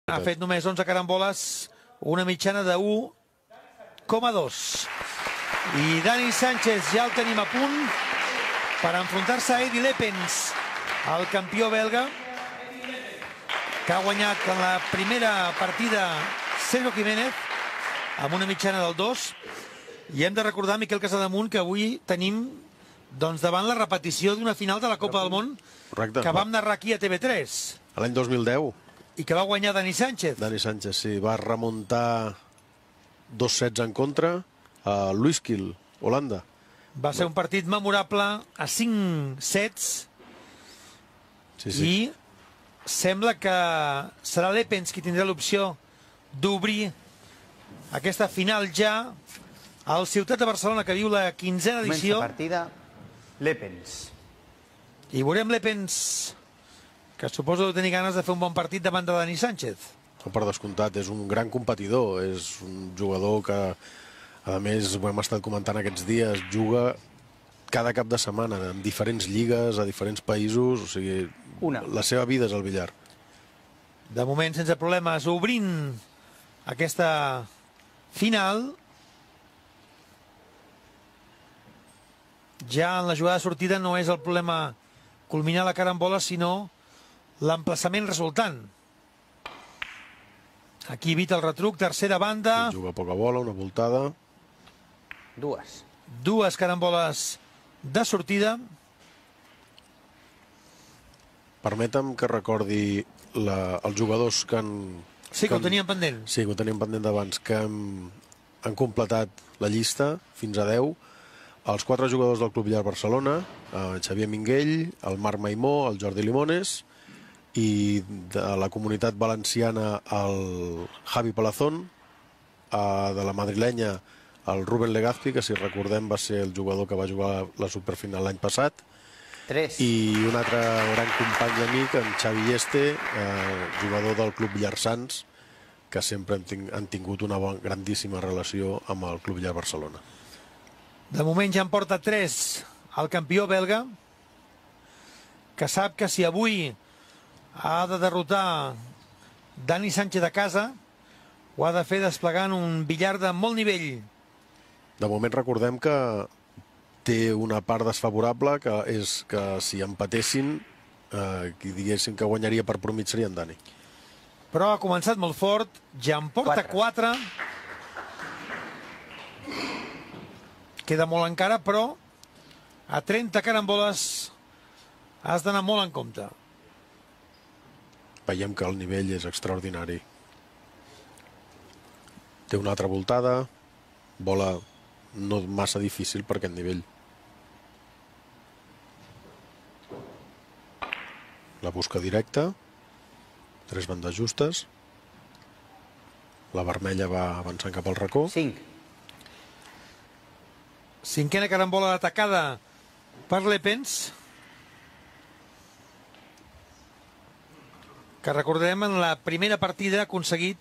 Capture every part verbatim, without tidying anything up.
Ha fet només onze caramboles, una mitjana de u coma dos. I Dani Sánchez ja el tenim a punt per enfrontar-se a Eddy Leppens, el campió belga, que ha guanyat en la primera partida Sergio Jiménez amb una mitjana del dos. I hem de recordar, Miquel Casademunt, que avui tenim doncs, davant la repetició d'una final de la Copa del Món Correcte. que vam narrar aquí a T V tres. L'any dos mil deu. I que va guanyar Dani Sánchez. Dani Sánchez, sí. Va remuntar dos sets en contra a Luiskill, Holanda. Va ser un partit memorable a cinc sets. Sí, sí. I sembla que serà Leppens qui tindrà l'opció d'obrir aquesta final ja al Ciutat de Barcelona, que viu la quinzena edició. Comença partida Leppens. I veurem Leppens, que suposo que tenir ganes de fer un bon partit davant de Dani Sánchez. Per descomptat, és un gran competidor, és un jugador que, a més, ho hem estat comentant aquests dies, juga cada cap de setmana en diferents lligues, a diferents països, o sigui, Una. la seva vida és el billar. De moment, sense problemes, obrint aquesta final. Ja en la jugada de sortida no és el problema culminar la carambola, sinó l'emplaçament resultant. Aquí evita el retruc, tercera banda. Juga poca bola, una voltada. Dues. Dues caramboles de sortida. Permetem que recordi la, els jugadors que han... Sí, que ho tenien pendent. Sí, que ho teníem pendent d'abans, que han, han completat la llista fins a deu. Els quatre jugadors del Club Billar Barcelona, el Xavier Minguell, el Marc Maimó, el Jordi Limones, i de la comunitat valenciana el Javi Palazón, de la madrilenya el Rubén Legazpi, que si recordem va ser el jugador que va jugar la superfinal l'any passat, Tres. i un altre gran company i amic, en Xavi Este, eh, jugador del Club Billar Sants, que sempre han, ting han tingut una bon, grandíssima relació amb el Club Billar Barcelona. De moment ja en porta tres el campió belga, que sap que si avui ha de derrotar Dani Sánchez a casa, ho ha de fer desplegant un billar de molt nivell. De moment recordem que té una part desfavorable, que és que si empatessin, eh, qui diguessin que guanyaria per promig seria en Dani. Però ha començat molt fort, ja en porta quatre. Queda molt encara, però a trenta caramboles has d'anar molt en compte. Veiem que el nivell és extraordinari. Té una altra voltada, bola no massa difícil per aquest nivell. La busca directa, tres bandes justes, la vermella va avançant cap al racó. Cinc. Cinquena carambola atacada per Leppens, que recordem en la primera partida ha aconseguit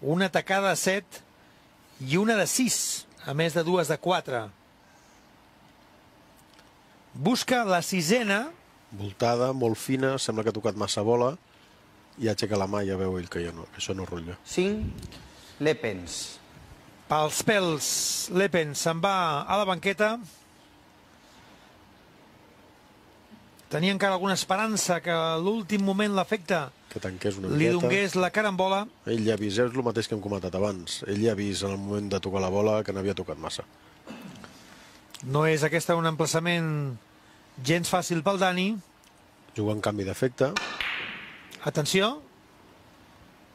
una atacada de set i una de sis, a més de dues de quatre. Busca la sisena. Voltada, molt fina, sembla que ha tocat massa bola, i aixeca la mà i ja veu ell que, ja no, que això no rutlla. Cinc. Leppens. Pels pèls, Leppens se'n va a la banqueta. Tenia encara alguna esperança que a l'últim moment l'efecte Que tanqués una li miqueta. donés la carambola. Ell ja ha vist, és el mateix que hem comentat abans, ell ja ha vist en el moment de tocar la bola que n'havia tocat massa. No és aquesta un emplaçament gens fàcil pel Dani. Juga en canvi d'efecte, Atenció,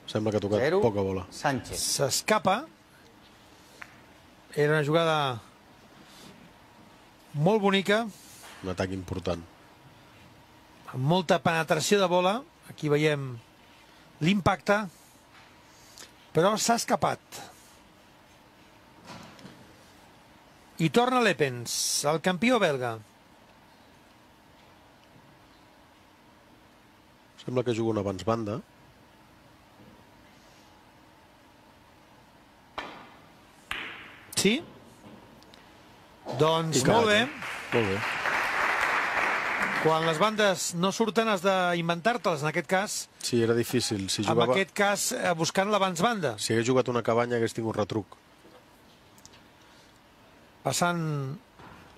sembla que ha tocat Zero. poca bola. Sánchez. s'escapa. Era una jugada molt bonica, Un atac important. amb molta penetració de bola. Aquí veiem l'impacte, però s'ha escapat. I torna Leppens, el campió belga. Sembla que juga un abans banda. Sí? Doncs I molt bé. Molt bé. Quan les bandes no surten has d'inventar-te-les, en aquest cas. Sí, era difícil. Si En jugava... aquest cas, eh, buscant l'abans banda. Si hagués jugat una cabanya hagués tingut retruc. Passant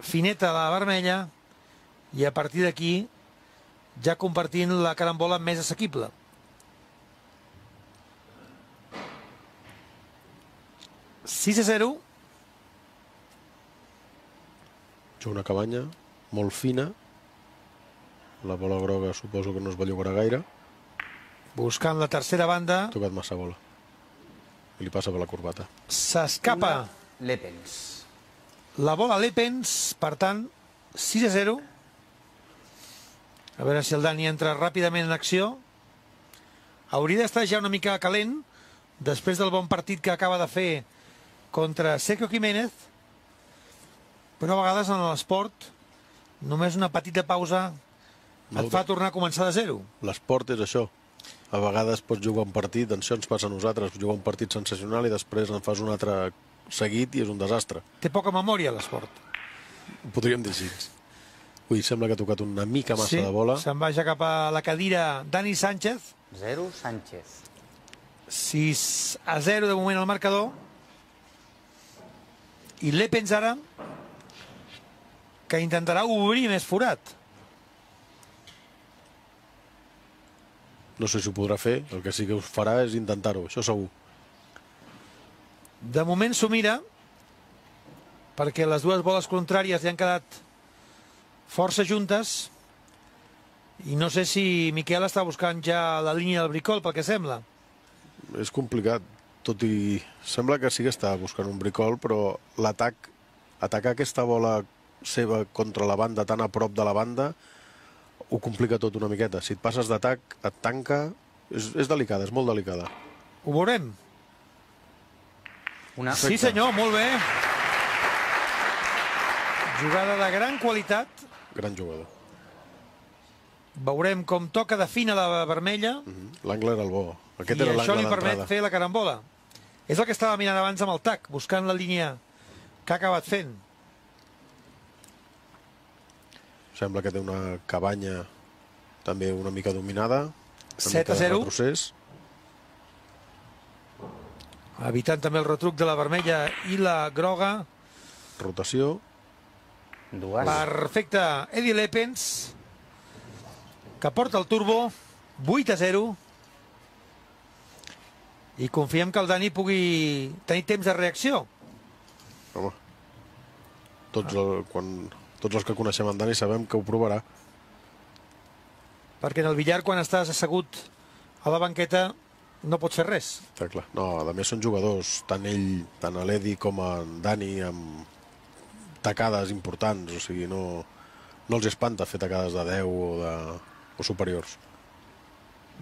fineta a la vermella i a partir d'aquí ja compartint la carambola més assequible. sis a zero. Juga una cabanya molt fina. La bola groga suposo que no es bellugarà gaire. Buscant la tercera banda. Ha tocat massa bola. I li passa per la corbata. S'escapa Lepens. la bola a Lepens, per tant, sis a zero. A veure si el Dani entra ràpidament en acció. Hauria d'estar ja una mica calent després del bon partit que acaba de fer contra Sergio Jiménez, però a vegades en l'esport només una petita pausa et fa tornar a començar de zero. L'esport és això. A vegades pots jugar un partit, això ens passa a nosaltres, jugar un partit sensacional i després en fas un altre seguit i és un desastre. Té poca memòria l'esport. Ho podríem dir així. Ui, sembla que ha tocat una mica massa Sí, de bola. se'n va ja cap a la cadira Dani Sánchez. zero, Sánchez. sis a zero de moment al marcador. I Lepens ara, que intentarà obrir més forat. No sé si ho podrà fer, el que sí que us farà és intentar-ho, això segur. De moment s'ho mira, perquè les dues boles contràries li han quedat força juntes, i no sé si Miquel està buscant ja la línia del bricol, pel que sembla. És complicat, tot i... Sembla que sí que està buscant un bricol, però l'atac, atacar aquesta bola seva contra la banda, tan a prop de la banda, ho complica tot una miqueta. Si et passes d'atac, et tanca... És, és delicada, és molt delicada. Ho veurem. Una. Sí, senyor, molt bé. Jugada de gran qualitat. Gran jugador. Veurem com toca de fina la vermella. Mm -hmm. L'angle era el bo. Aquest I era això l'angle li permet d'entrada. fer la carambola. És el que estava mirant abans amb el tac, buscant la línia que ha acabat fent. Sembla que té una cabanya també una mica dominada. set a zero. Procés. Evitant també el retruc de la vermella i la groga. Rotació. Dues. Perfecte. Eddie Lepens, que porta el turbo. vuit a zero. I confiem que el Dani pugui tenir temps de reacció. Home, tots, el, quan, tots els que coneixem en Dani sabem que ho provarà. Perquè en el billar, quan estàs assegut a la banqueta, no pots fer res. Està clar. No, a més són jugadors, tant ell, tant l'Edi com en Dani, amb tacades importants, o sigui, no, no els espanta fer tacades de deu o, de, o superiors.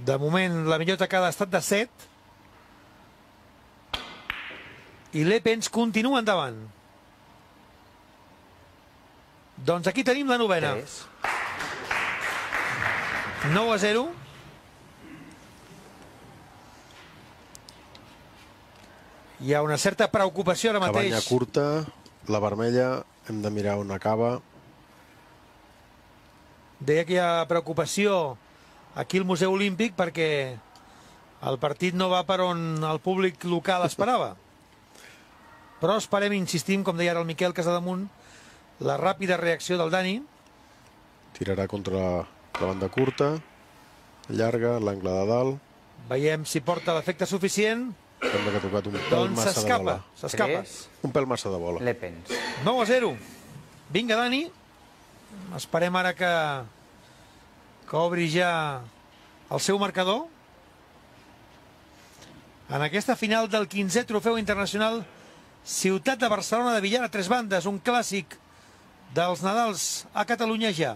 De moment, la millor tacada ha estat de set. I Lepens continua endavant. Doncs aquí tenim la novena. Tres. nou a zero. Hi ha una certa preocupació ara mateix. Cabanya curta, la vermella, hem de mirar on acaba. Deia que hi ha preocupació aquí al Museu Olímpic perquè el partit no va per on el públic local esperava. Però esperem, insistim, com deia ara el Miquel Casademunt, la ràpida reacció del Dani. Tirarà contra la banda curta, llarga, l'angle de dalt. Veiem si porta l'efecte suficient. Sembla que ha tocat un pèl Doncs massa de s'escapa, bola. s'escapa. Tres. Un pèl massa de bola. Lepens. nou a zero. Vinga, Dani. Esperem ara que, que obri ja el seu marcador. En aquesta final del quinzè Trofeu Internacional Ciutat de Barcelona de billar a tres bandes, un clàssic dels Nadals a Catalunya ja.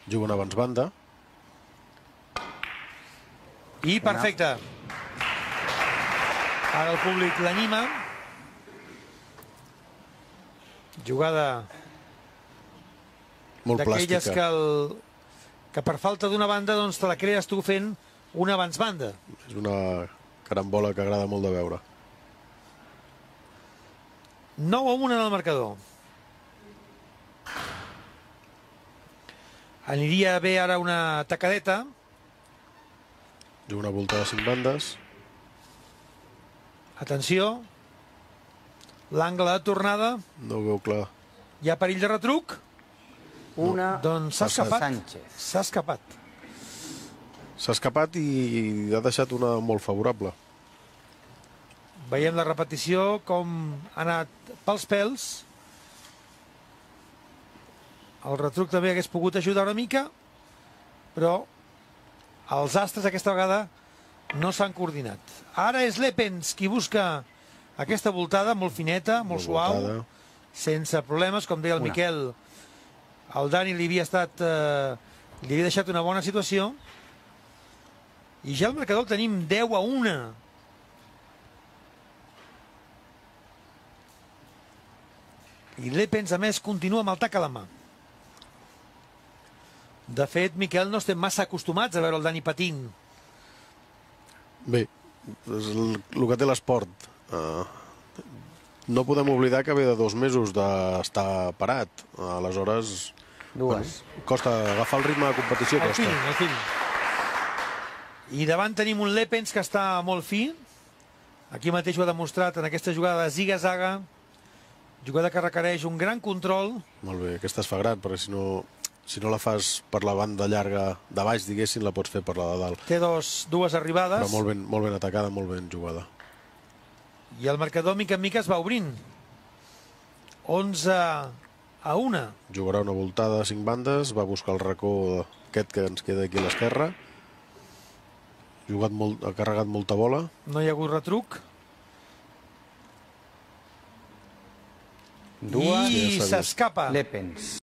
Juguen abans banda. I perfecte. Ara el públic l'anima. Jugada Molt d'aquelles plàstica. que, el, que per falta d'una banda doncs te la crees tu fent una abans banda. És una carambola que agrada molt de veure. nou a un en el marcador. Aniria bé ara una tacadeta. Juga una volta de cinc bandes. Atenció. L'angle de tornada. No ho veu clar. Hi ha perill de retruc? Una Doncs s'ha escapat. Sánchez. S'ha escapat. S'ha escapat i ha deixat una molt favorable. Veiem la repetició, com ha anat pels pèls. El retruc també hagués pogut ajudar una mica, però els astres aquesta vegada no s'han coordinat. Ara és Lepens qui busca aquesta voltada molt fineta, molt, molt suau, voltada. Sense problemes, com deia el una. Miquel. El Dani li havia estat eh, li havia deixat una bona situació. I ja el marcador el tenim deu a una. I Lepens, a més, continua amb el tac a la mà. De fet, Miquel, no estem massa acostumats a veure el Dani patint. Bé, és el, el que té l'esport. Uh, no podem oblidar que ve de dos mesos d'estar parat. Uh, aleshores, dues. Bueno, costa agafar el ritme de competició. El costa. fill, el fill. I davant tenim un Lepens que està molt fi. Aquí mateix ho ha demostrat en aquesta jugada de ziga-zaga. Jugada que requereix un gran control. Molt bé, aquesta es fa gran, perquè si no... Si no la fas per la banda llarga de baix, diguéssim, la pots fer per la de dalt. Té dos, dues arribades. Però molt ben, molt ben atacada, molt ben jugada. I el marcador, mica en mica, es va obrint. onze a una. Jugarà una voltada de cinc bandes, va buscar el racó aquest que ens queda aquí a l'esquerra. Jugat molt, ha carregat molta bola. No hi ha hagut retruc. Dues. I s'escapa. Lepens.